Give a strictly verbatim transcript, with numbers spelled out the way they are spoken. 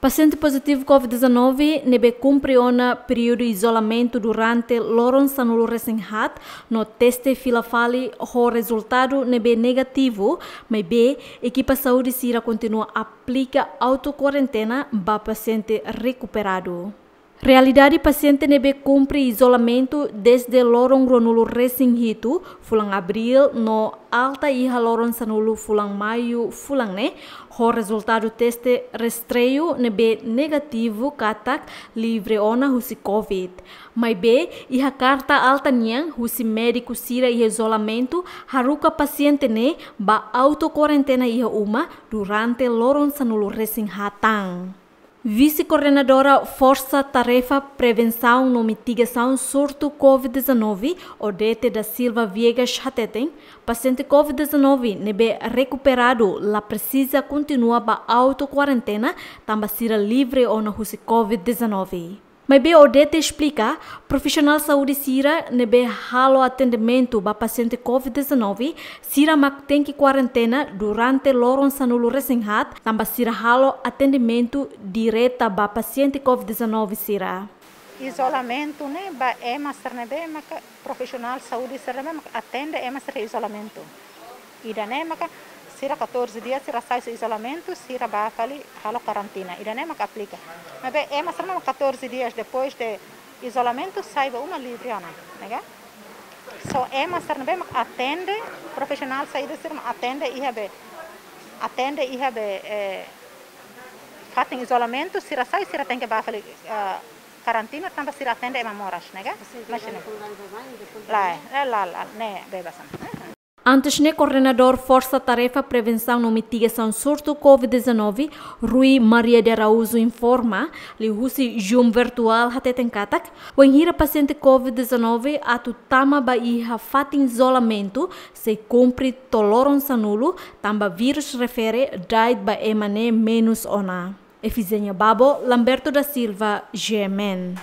Pasiente pozitivu covid dezanove ne'ebé kumpre ona períodu izolamentu durante loron sanulu resin haat no teste fila fali ho rezultadu ne'ebé negativu, maibé ekipa saúde sira kontinua aplika auto kuarentena ba pasiente rekuperadu. Realidade pasiente ne'ebé kumpre izolamentu dezde loron ruanulu resin hitu fulan Abríl no alta iha loron sanulu fulan Maiu fulan ne'e, ho rezultadu teste rastreiu ne'ebé negativu katak livre ona husi covid. Maibé, iha karta alta nian husi médiku sira iha izolamentu haruka pasiente ne'e ba auto kuarentena iha uma durante loron sanulu resin haat tan. Vise-Koordenadora Forsa Tarefa Prevensaun no Mitigasaun Surtu covid dezanove, Odete da Silva Viegas hateten, pasiente covid dezanove ne'ebé rekuperadu la presiza kontinua ba auto kuarentena tanba sira livre ona husi covid dezanove. Maibé Odete esplika, profisionál saúde sira ne'ebé halo atendimentu ba pasiente covid dezanove, sira mak tenke kuarentena durante loron sanulu resin haat, tanba sira halo atendimentu direta ba pasiente covid dezanove sira. Izolamentu ne'e ba ema sira ne'ebé maka profisionál saúde sira ne'ebé maka atende ema sira izolamentu. Ida-ne'e maka sira catorze dias sira sai husi izolamentu, sira bá fali halo karantina. Ida-ne'e maka aplika. Maibé ema sira ne'ebé maka catorze dias depois de izolamentu sai ba uma livre ona, ne'e ka? Só ema sira ne'ebé maka atende, profisionál saúde sira maka atende iha be, atende iha be, eh, fatin izolamentu, sira sai, sira tenke bá fali, eh, karantina, tanba sira atende ema moras, ne'e ka? Sin, imajina. Lae, lae, lae, lae, ne'e bebas ona. Antes ne'e, Koordenadór Forsa Tarefa Prevensaun no Mitigasaun Surtu covid dezanove, Rui Maria de Araújo informa, liuhusi Zoom virtuál hateten katak, wainhira pasiente covid dezanove atu tama ba iha fatin izolamentu, sei kumpre to'o loron sanulu, tanba vírus refere da'et ba ema ne'e menus ona. Efizénia Babo, Lamberto da Silva, G M N.